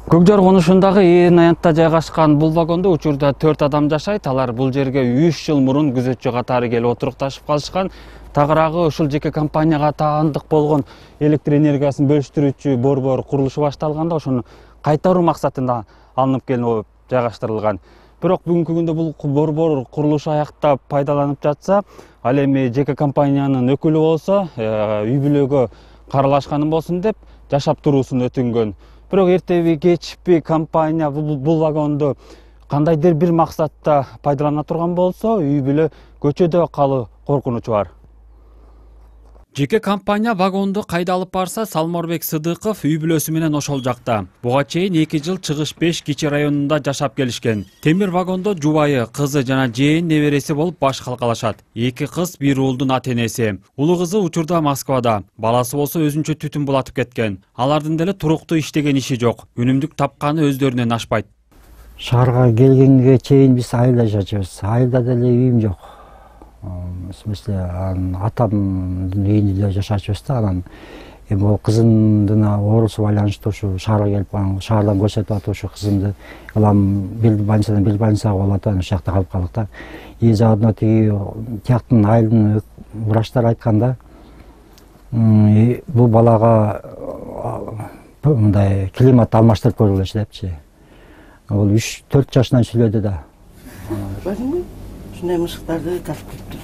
Көкжар конушундагы Ээрнаянтта жайгашкан бул вагондо учурда 4 адам жашайт. Алар бул жерге 3 жыл мурун күзөтчү катары келип отурукташып калышкан. Тагыраагы ушул жеке компанияга таандык болгон электр энергиясын бөлүштүрүүчү борбор курулушу башталганда ошону кайтаруу максатында алынып келип жайгаштырылган. Бирок бүгүнкү күндө бул борбор курулушу аяктап пайдаланып жатса, ал эми жеке компаниянын өкүлү болсо, үй бүлөгө каралашканым болсун деп жашап туруусун өтүнгөн. Бирок эртеби кечпи компания бул вагонду кандайдыр бир максатта пайдалана турган болсо, үй бүлө көчөдө калуу коркунучу бар. Жеке компания вагонду кайда алып барса, Салморбек Сыдыков үй бүлөсү менен ошол жакта. Буга чейин 2 жыл Чыгыш 5 кичи районунда жашап келишкен. Темир вагондо жубайы, кызы жана жээн небереси болуп баш калкалашат. 2 кыз, 1 уулдун ата-энеси. Улуу кызы учурда Москвада, баласы болсо өзүнчө түтүн булатып кеткен. Алардын деле туруктуу иштеген иши жок. Үнүмдүк тапканы өздөрүнөн ашпайт. Шаарга келгенге чейин биз айылда жашайбыз. Айылда деле үйүм жок. В смысле, атамдын үйүндө жашачубуз да, анан эми могу кызымдын оорусу байланыштуу ушу шаарга келип, шаардан көрсөтүп атып ушу кызымды улам бир больницадан бир больницага болуп атып, ошол жакта калып калдык да. И заодно тияктын айылдын врачтары айтканда, бул балага мындай климат алмаштырып көргүлөчү депчи. Ол 3-4 жашынан сүйлөдү да. Ушундай мышыктарды тартып кетти.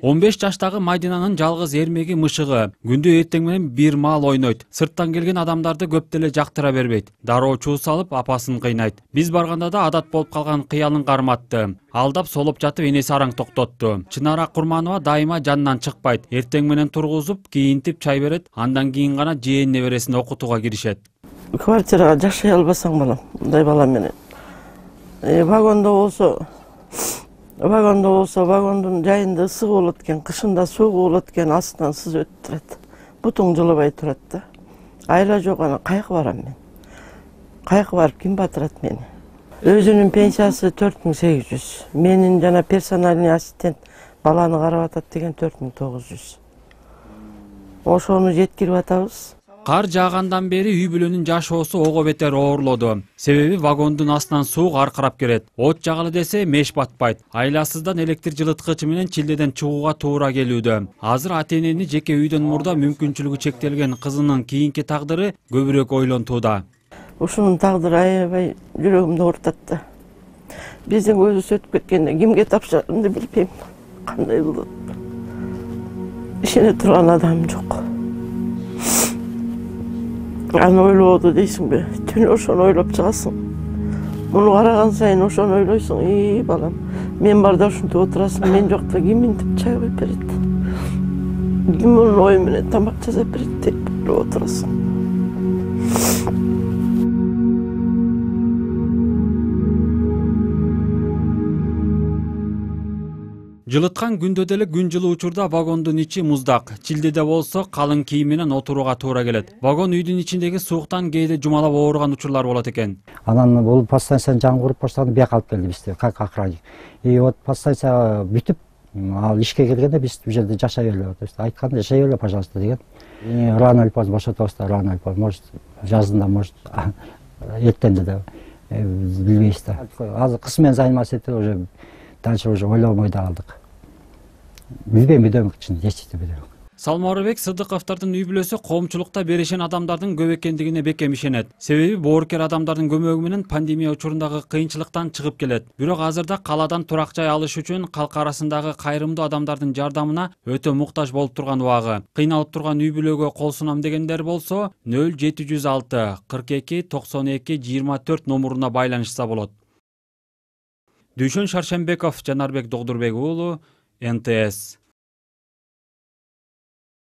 15 жаштагы Майдинанын жалгыз эрмеги мышыгы. Күндү эртең менен бир маал ойнойт. Сырттан келген адамдарды көп деле жактыра бербейт. Дароо чуу салып, апасын кыйнайт. Биз барганда да адат болуп калган кыялын карматты. Алдап солоп жатып энеси араң токтотту. Чынара Курманова дайыма жанынан чыкпайт. Эртең менен тургузуп, кийинтип чай берет. Андан кийин гана жээн небересин окутууга киришет. Квартирага жашай албасаң балам, мындай бала менен. Вагондо болсо, вагондун жайында ысык болот экен, кышында суук болот экен, астынан сызып өтүп турат. Бутуң жылыбай турат да. Айла жок, ана кайыкка барам мен. Кайыкка барып ким батырат мени? Өзүнүн пенсиясы 4800. Менин жана персональный ассистент баланы карап атат деген 4900. Ошону жеткирип атабыз. Кар жаагандан бери үй бүлөнүн жашоосу ого бетер оорлоду. Себеби вагондун астынан суук аркырап келет. От жагылы десе меш батпайт. Айласыздан электр жылыткычы менен чилдеден чыгууга туура келүүдө. Азыр ата-энени жеке үйдөн мурда мүмкүнчүлүгү чектелген кызынын кийинки тагдыры көбүрөөк ойлонтууда. Ушунун тагдыры аябай жүрөгүмдү оорутат да. Биздин көзүбүз өтүп кеткенде кимге тапшырарымды билбейм. Кандай болот? Ишене турган адам жок. Аны ойлоду дейсиңби? Түнү ошону ойлоп чыгасың. Муну караган сайын ошону ойлойсуң. Балам, мен барда ушинтип отурасың, мен жокта ким интип чай куюп берет? Ким мунун ою менен тамак жасап берет деп ойлоп отурасың. Жылыткан күндө деле күн жылуу учурда вагондун ичи муздак. Чилдеде болсо калың кийим менен отурууга туура келет. Вагон үйдүн ичиндеги сууктан кээде жумалап ооруган учурлар болот экен. Анан бул подстанцияны жаңгырып баштаганда бияка алып келди бизди, как охранник. И вот подстанция бүтүп, ал ишке келгенде биз бул жерде жашай бергиле, то есть айтканда жашай бергиле, пожалуйста деген. Рано или поздно бошотобуз да, рано или поздно, может жазында, может эртенде да билбейбиз да. Азыр кыз менен заниматься этип уже дальше уже ойлобой да калдык. Билбейм, эчтеке билбейм. Салморбек Сыдыковдордун үй бүлөсү коомчулукта берешен адамдардын көп экендигине бекем ишенет. Себеби боорукер адамдардын көмөгү менен пандемия учурундагы кыйынчылыктан чыгып келет. Бирок азырда калаадан турак жай алыш үчүн калк арасындагы кайрымдуу адамдардын жардамына өтө муктаж болуп турган убагы. Кыйналып турган үй бүлөгө кол сунам дегендер болсо 0706 42 92 24 номуруна байланышса болот. Дүйшөн Шаршембеков, Жанарбек Догдурбек уулу, НТС.